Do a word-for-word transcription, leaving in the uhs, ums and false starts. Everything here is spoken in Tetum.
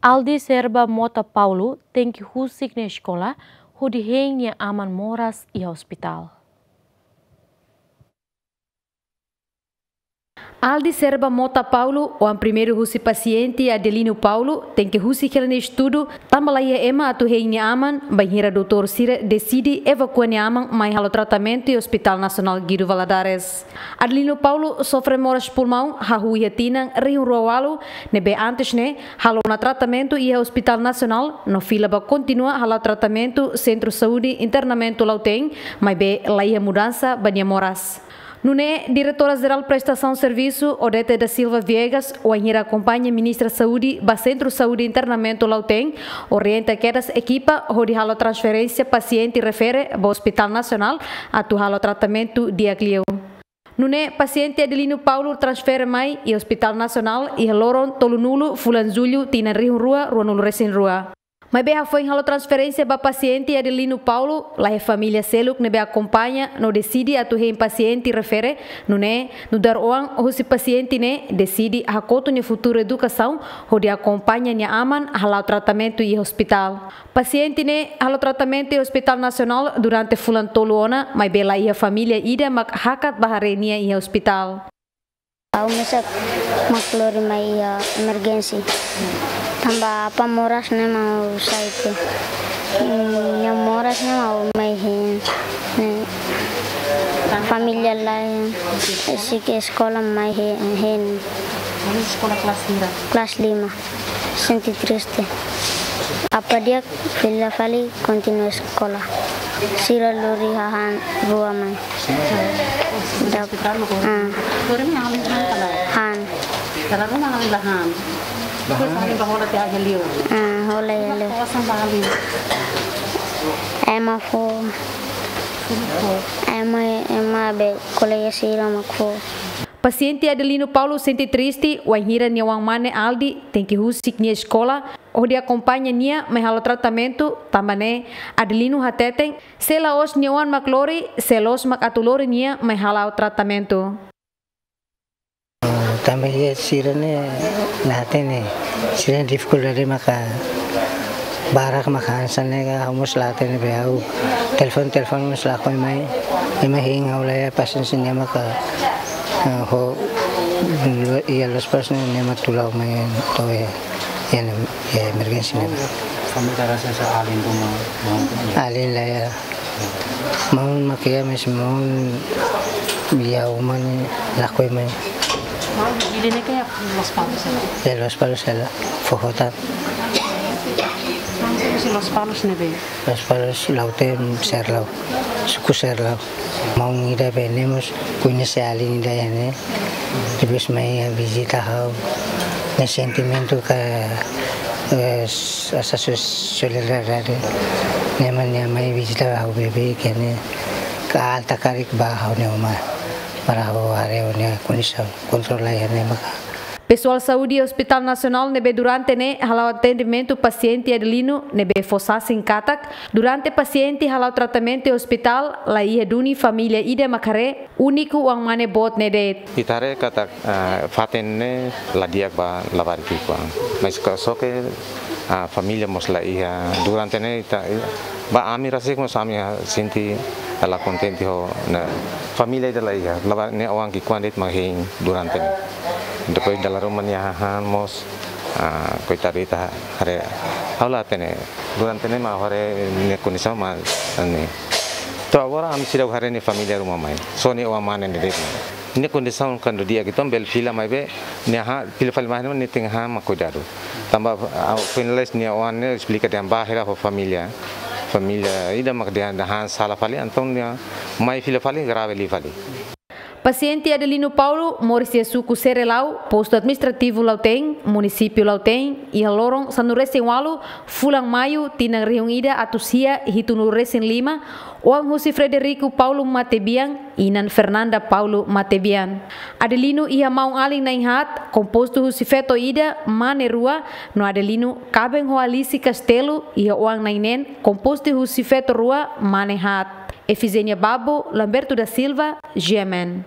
Aldi Serba Mota Paulo tenke husik nia eskola hodi hein nia aman moras iha ospitál. Aldi Serba Mota Paulo, oan primeiru husi pasiente Adelino Paulo, tenke husik hela nia estudu, tanba laiha ema atu hein nia aman, bainhira doutór sira deside evakua nia aman mai halo tratamentu iha Hospital Nasionál Guido Valadares. Adelino Paulo sofre moras pulmaun hahú iha tinan rihun rua ualu, ne'ebé antes ne'e halo ona tratamentu iha Hospital Nasionál, no fila ba kontinua hala'o tratamentu Sentru Saúde Internamentu Lautém, maibé laiha mudansa ba nia moras. Nune'e, Diretora Jerál Prestasaun Servisu, Odete da Silva Viegas, wainhira akompaña Ministra Saúde ba Sentru Saúde Internamentu Lautém, orienta kedas ekipa hodi halo transferénsia pasiente refere ba Hospital Nasionál atu halo tratamentu di'ak liu. Nune'e, pasiente Adelino Paulo transfere mai iha Hospital Nasionál iha loron tolunulu fulan Jullu tinan rihun rua ruanulu resin rua. Maibé hafoin halo transferénsia ba pasiente Adelino Paulo, laiha família seluk ne'ebé akompaña no deside atu hein pasiente refere, nune'e, nu'udar oan husi pasiente ne'e deside hakotu nia futuru edukasaun hodi akompaña nia aman hala'o tratamentu iha ospitál. Pasiente ne'e halo tratamentu iha Hospital Nasionál durante fulan tolu ona, maibé laiha família ida mak hakat ba haree nia iha ospitál. Ha'u mesak mak lori mai iha emergensi. Tanba apá moras ne'e mak ha'u sai tiha. Hmm, nia moras ne'e mak ha'u mai hein. Ne'e família laiha, husik eskola mai hein, hein. Eskola kelas hira? Kelas lima. Sente triste. Apá di'ak fila fali kontinua eskola. Sira lori hahán rua mai. Dap-, ah. Lori mai alin han ka lae? Han. Dala ruma alin la han. Depois alin bá hola tiha iha li'ur. Ah, hola iha li'ur. Kosan ba alin. Ema fó. Ema, ema be kolega sira mak fó. Pasiente Adelino Paulo sente triste, wainhira nia oan mane Aldi tenke husik nia eskola, hodi akompaña nia mai halo tratamentu, tanba ne'e Adelino hateten, se la'ós nia oan mak lori, sé loos mak atu lori nia mai hala'o tratamentu. Tanba iha sira-ne'e la hatene, sira-nia difikuldade maka barak maka hanesan ne'e ka ha'u mós la hatene be ha'u telefone, telefone mós lakohi mai, ema hein ha'u laiha pasiénsia nia maka, eh, ho, iha Lospalos ne'e ema tula mai to'o iha, iha, iha emergensi ne'e. Família rasa sa alin ruma, maun. Alin laiha. Maun mak iha, mais maun iha uma ne'e lakohi mai. Maun ida-ne'e ke iha Lospalos hela? Iha Lospalos hela, foho tan. Maun husi Lospalos ne'ebé? Lospalos Lautém, Serlau. Suku Serlau. Maun ida be ne'e mós koñese alin ida iha ne'e. Depois mai vizita ha'u. Nia sentimentu ka, eh, s-, asa so-, solidariedade. Nia mai, nia mai vizita ha'u beibeik iha ne'e. Ka alta karik ba ha'u-nia uma. Para ha'u haree ha'u-nia kondisaun. Kontrola iha ne'e maka. Pesoál saúde Hospital Nasionál ne'ebé durante ne'e hala'o atendimentu pasiente Adelino ne'ebé fó sasin katak, durante pasiente hala'o tratamentu iha ospitál, laiha duni família ida mak haree, úniku oan mane boot ne'e de'it. Ita haree katak, ah, fatin ne'e la di'ak ba labarik ki'ikoan. Mais ka só ke, ah, família mós laiha durante ne'e ita, ba ami rasik mós ami, ah, sente la kontente ho, ne'e, família ida laiha, labarik ne'e oan ki'ikoan de'it mak hein durante ne'e. Depois dala ruma nia hahán mós, ah, koitadu ita haree. Ha'u la hatene, durante ne'e mak haree nia kondisaun mak ne'e. To'o agora ami seidauk haree nia família ruma mai. Só nia oan mane de'it. Nia kondisaun kuandu di'ak ki'ikoan bele fila maibé, nia hahán, fila fali mai ne'e nia tenke hahán mak kuidadu. Tanba, ah, finaliza nia oan ne'e esplika dehan bá hela ho família. Família ida mak dehan hahán sala fali, entaun nia mai fila fali, grave liu fali. Pasiente Adelino Paulo moris iha suku Serelau, postu administrativu Lautém, munisípiu Lautém, iha loron sanulu resin ualu, fulan Maiu, tinan rihun ida atus sia hitunulu resin lima, oan husi Frederico Paulo Matebian, inan Fernanda Paulo Matebian. Adelino iha maun-alin na'in-haat, kompostu husi feto ida, mane rua, no Adelino kaben ho Alice Castelo, iha oan na'in-neen, kompostu husi feto rua, mane haat. Efigénia Babo, Lamberto da Silva, G M N.